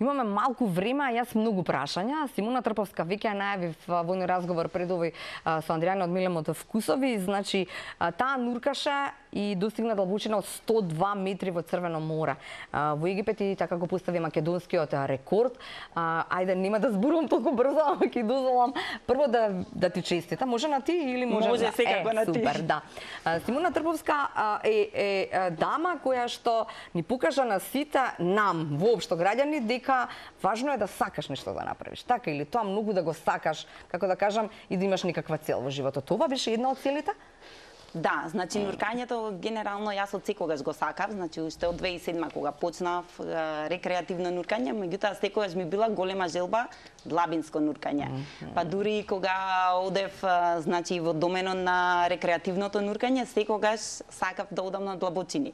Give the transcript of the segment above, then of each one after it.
Имаме малку време, а јас многу прашања. Симона Трповска веќе ја најавив во еден разговор пред овој со Андријана од Милемот Вкусови. Значи, таа нуркаше и достигна длабочина од 102 метри во Црвено море. Во Египет и така го постави македонскиот рекорд. Ајде, нема да зборувам толку брзо, ама ќе дозволам прво да ти честита. Може на ти или може секако на ти. Супер, да. Симона Трповска е дама која што ни покажа на сите нам, воопшто граѓани, дека важно е да сакаш нешто да направиш. Така или тоа многу да го сакаш, како да кажам, и да имаш некаква цел во животот. Това беше една од целите? Да, значи нуркањето генерално јас од секогаш го сакав, значи уште од 2007 кога почнав рекреативно нуркање, меѓутоа секогаш ми била голема желба длабинско нуркање. Па дури кога одев значи во доменот на рекреативното нуркање, секогаш сакав да одам на длабочини.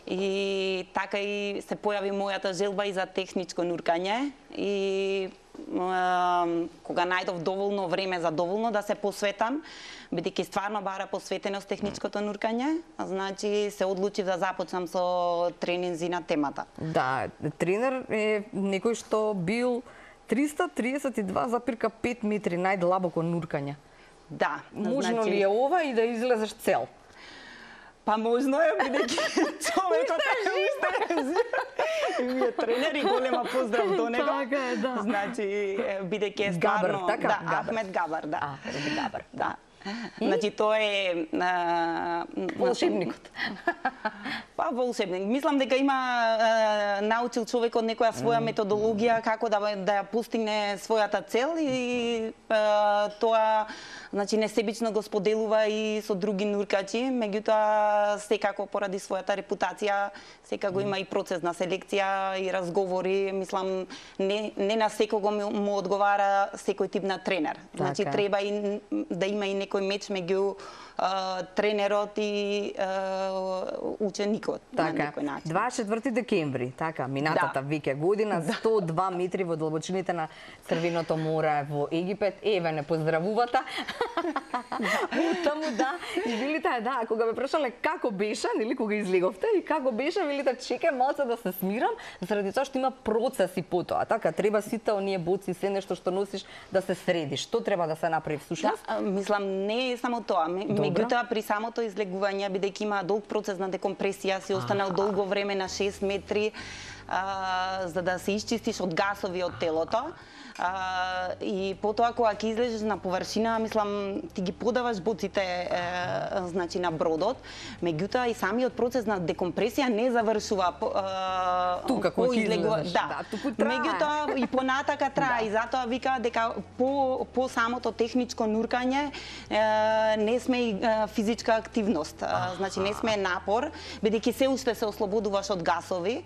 И така и се појави мојата желба и за техничко нуркање и кога најдов доволно време за доволно да се посветам, бидејќи стварно бара посветеност техничкото нуркање, значи се одлучив да започнам со тренинзи на темата. Да, тренер е некој што бил 332,5 метри најдлабоко нуркање. Да. Можно ли е ова и да излезеш цел? Па можно е, бидејќи човекот ми е тренер и голема поздрав до него. Така е, да. Значи, бидејќи е стварно... Габар, така? Да, Ахмед Габар, да. Габар. Да. Значи, тој е... Волшебникот. Па, волшебник. Мислам дека има научил човекот некоја своја методологија како да ја постигне својата цел и тоа значи несебично го споделува и со други нуркачи, меѓутоа секако поради својата репутација, секако има и процес на селекција и разговори, мислам не на секого му одговара секој тип на тренер. Значи треба и да има и некој меч меѓу тренерот и ученикот на некој начин. 24 декември, така, минатата веќе година, 102 метри во длабочините на Црвеното море во Египет. Еве, не поздравувата. Таму да, и велите, да, кога ме прашале како беше, нели, кога излеговте, и како беше, велите, чекај малце да се смирам, заради тоа што има процеси потоа. Така, треба сите оние боци, се нешто што носиш, да се среди. Што треба да се направи всушност? Да, мислам, не е само тоа. Меѓутоа, при самото излегување, бидејќи има долг процес на декомпресија, си останал долго време на 6 метри, за да се исчистиш од гасови од телото. И потоа кога ќе излезеш на површина, мислам, ти ги подаваш боците значи на бродот, меѓутоа и самиот процес на декомпресија не завршува тука кога ќе излезеш. Да, меѓутоа и понатака трае и затоа вика дека по самото техничко нуркање не сме и физичка активност, значи не сме напор, бидејќи се уште се ослободуваш од гасови.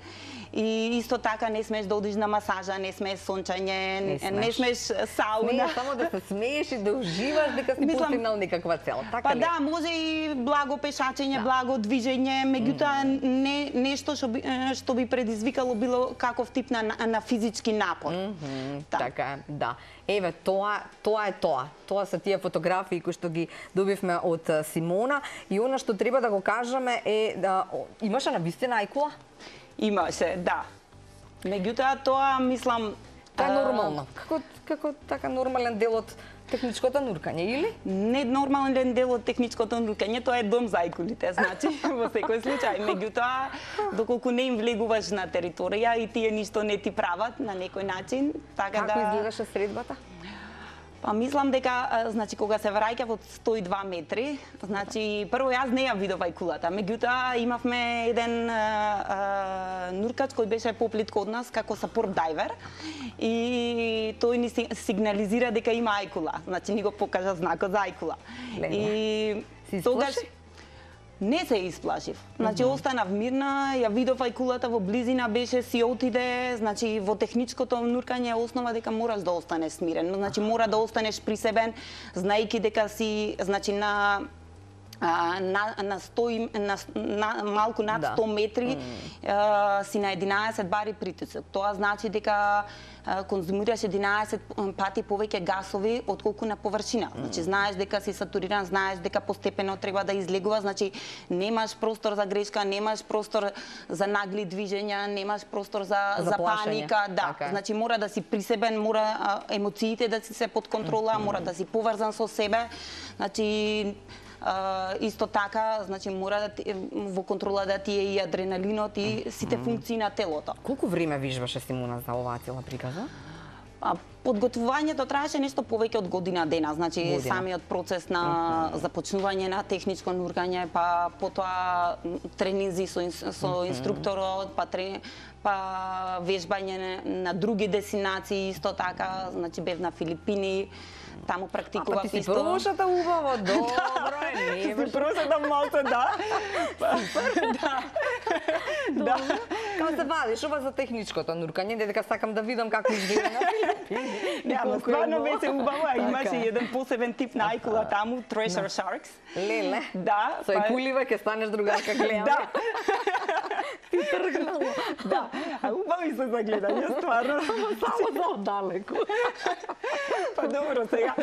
И исто така не смеш да одиш на масажа, не смеш сончање, не смеш сауна. Не, само да се смееш и да уживаш дека си постигнал некаква цел. Така па да, може и благо пешачење, благо движење, меѓутоа не нешто што би предизвикало било каков тип на физички напор. Така, да. Еве, тоа е тоа. Тоа се тие фотографии кои што ги добивме од Симона и она што треба да го кажеме е да имаше навистина ајкула? Имаше, да. Меѓутоа тоа мислам тоа е нормално. Како така нормален дел од техничкото нуркање, или? Не нормален дел од техничкото нуркање, тоа е дом за ајкулите, значи во секој случај. Меѓутоа, доколку не им влегуваш на територија и тие ништо не ти прават на некој начин, така да... Како изгледаше средбата? Па мислам дека значи кога се враќав од 102 метри, значи прво јас не ја видов ајкулата, меѓутоа имавме еден нуркач кој беше поплитко од нас како сапорт дайвер и тој ни сигнализира дека има ајкула, значи ни го покажа знакот за ајкула. И тогаш не се исплашив. Значи останав мирна, ја видов ајкулата во близина, беше си отиде, значи во техничкото нуркање е основа дека мораш да останеш смирен. Значи мора да останеш присебен, знаејќи дека си значи на на 100 малку над 100 метри си на 11 бари притисок. Тоа значи дека конзумираш 11 пати повеќе гасови отколку на површина. Значи знаеш дека си сатуриран, знаеш дека постепено треба да излегува, значи немаш простор за грешка, немаш простор за нагли движења, немаш простор за паника, да. Okay. Значи мора да си присебен, мора емоциите да си се под контрола, мора да си поврзан со себе. Значи исто така, значи мора да во контрола да ти е и адреналинот и сите функции на телото. Колку време вижбаше Симуна за оваа цела приказа? Подготвувањето траеше нешто повеќе од година дена, значи самиот процес на започнување на техничко нуркање, па потоа тренинзи со инструкторот, па вежбање на други дестинации исто така, значи бев на Филипини. Таму практикував ти си исто. прошата убаво, добро е, не. Си прошата малце, да. Да. Како се вадиш ова за техничкото нуркање, дека сакам да видам како изгледа на Филипини. Не, ама стварно беше убаво, а имаше еден посебен тип на ајкула таму, Treasure Sharks. Леле. Да. Со ајкулива ќе станеш другарка, гледам. Да. Ти тргнало. Да, а убави се за гледање, стварно. Само за оддалеку. Па добро, сега.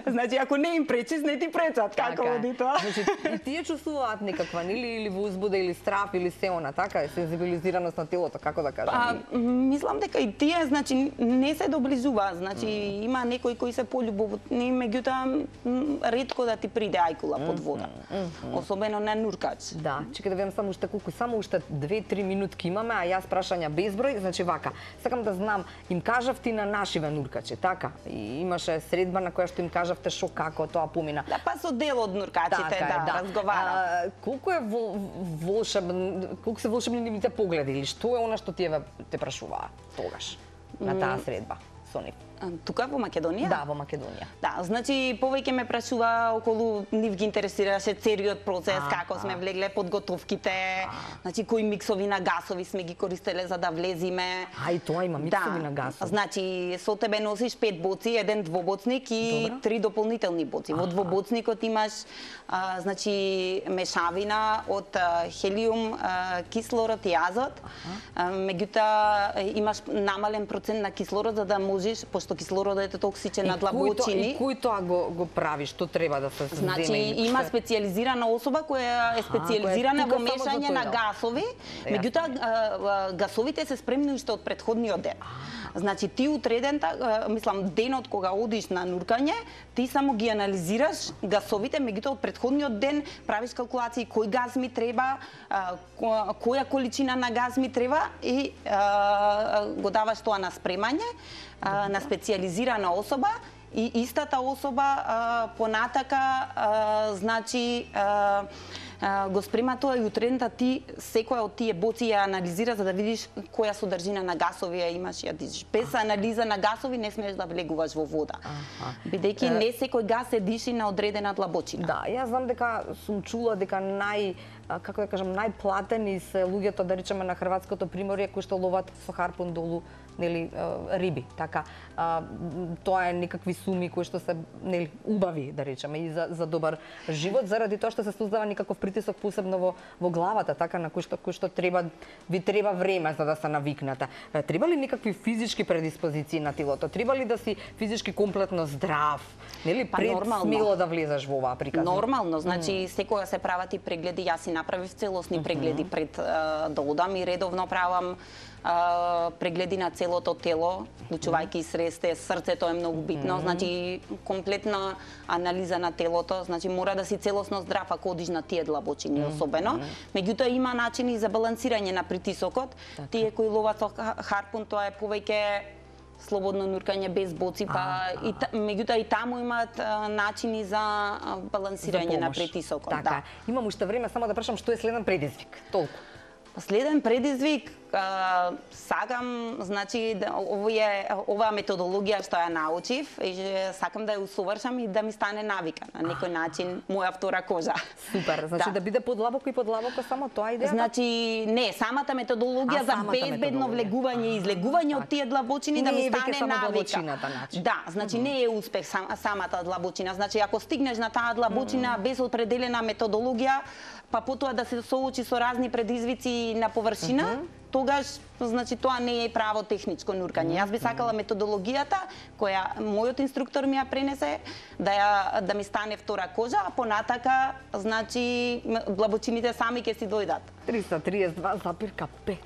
Значи, ако не им пречиш, не ти пречат. Како оди тоа? Значи, и тие чувствуваат некаква, или возбуда, или страф, или се она, така, сензибилизираност на телото, како да кажам? Мислам дека и тие, значи, не се доближуваат. Значи, има некои кои се полюбовни, меѓутоа, ретко да ти приде ајкула под вода. Особено на нуркач. Да, чекај да видам само уште 2-3 минутки имаме, а јас прашања безброј, значи вака. Сакам да знам, им кажавте на нашиве нуркачи, така? И имаше средба на која што им кажавте шо како тоа помина. Да, па со дел од нуркачите, да, разговара. Колку е колку се волшебни нивните погледи или што е она што тие те прашуваа тогаш на таа средба со нив? Тука во Македонија? Да, во Македонија. Да, значи повеќе ме прашува околу нив ги интересираше целиот процес, како сме влегле подготовките, значи кои миксови на гасови сме ги користеле за да влезиме. И тоа има миксови на гасови. Значи со тебе носиш 5 боци, еден двобоцник и 3 дополнителни боци. Во двобоцникот имаш значи мешавина од хелиум, кислород и азот. Меѓутоа имаш намален процент на кислород за да можеш, што кислородот е токсичен на длабочини. И кој тоа го прави? Што треба да се земе? Значи, има специјализирана особа која е специјализирана во мешање на гасови, меѓутоа гасовите се спремни уште од претходниот ден. Значи, ти утреден, мислам, денот кога одиш на нуркање, ти само ги анализираш гасовите, меѓутоа од претходниот ден правиш калкулации кој газ ми треба, која количина на газ ми треба и го даваш тоа на спремање на специјализирана особа и истата особа понатака значи го спрема тоа и утредента ти секоја од тие боци ја анализира за да видиш која содржина на гасови ја имаш ја дишиш. Без анализа на гасови не смееш да влегуваш во вода. Бидејќи не секој гас се диши на одредена длабочина. Да, јас знам дека сум чула дека како да кажам, најплатени се луѓето, да речеме, на хрватското приморје кои што ловат со харпун долу, нели, риби, така. Тоа е некакви суми кои што се, нели, убави, да речеме, и за добар живот, заради тоа што се создава некаков притисок посебно во главата, така, на кој што ви треба време за да се навикнете. Треба ли некакви физички предиспозиции на телото? Треба ли да си физички комплетно здрав? Нели, пред смело да влезеш во оваа приказна? Нормално, значи секогаш се прават и прегледи, јас си направив целосни прегледи пред да одам и редовно правам прегледи на целото тело, вклучувајќи сресте, срцето е многу битно, значи комплетна анализа на телото, значи мора да си целосно здрав ако одиш на тие длабочини особено. Меѓутоа има начини за балансирање на притисокот. Тие кои ловат со харпун, тоа е повеќе слободно нуркање без боци, па меѓутоа и таму имаат начини за балансирање на притисокот. Така. Имам уште време само да прашам што е следен предизвик. Толку. Следен предизвик Сакам, значи, оваа методологија што ја научив, сакам да ја усовршам и да ми стане навика на некој начин моја втора кожа. Супер, значи да биде подлабоко и подлабоко, само тоа идеја? Значи, не, самата методологија за безбедно влегување и излегување од тие длабочини да ми стане навика. Да, значи не е успех самата длабочина. Значи, ако стигнеш на таа длабочина без определена методологија, па потоа да се соочи со разни предизвици на површина, тогаш, значи, тоа не е право техничко нуркање. Јас би сакала методологијата која мојот инструктор ми ја пренесе да ми стане втора кожа, а понатака, значи, длабочините сами ќе си дојдат. 332,5.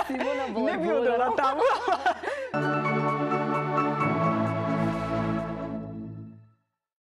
Симона, не би одела таму.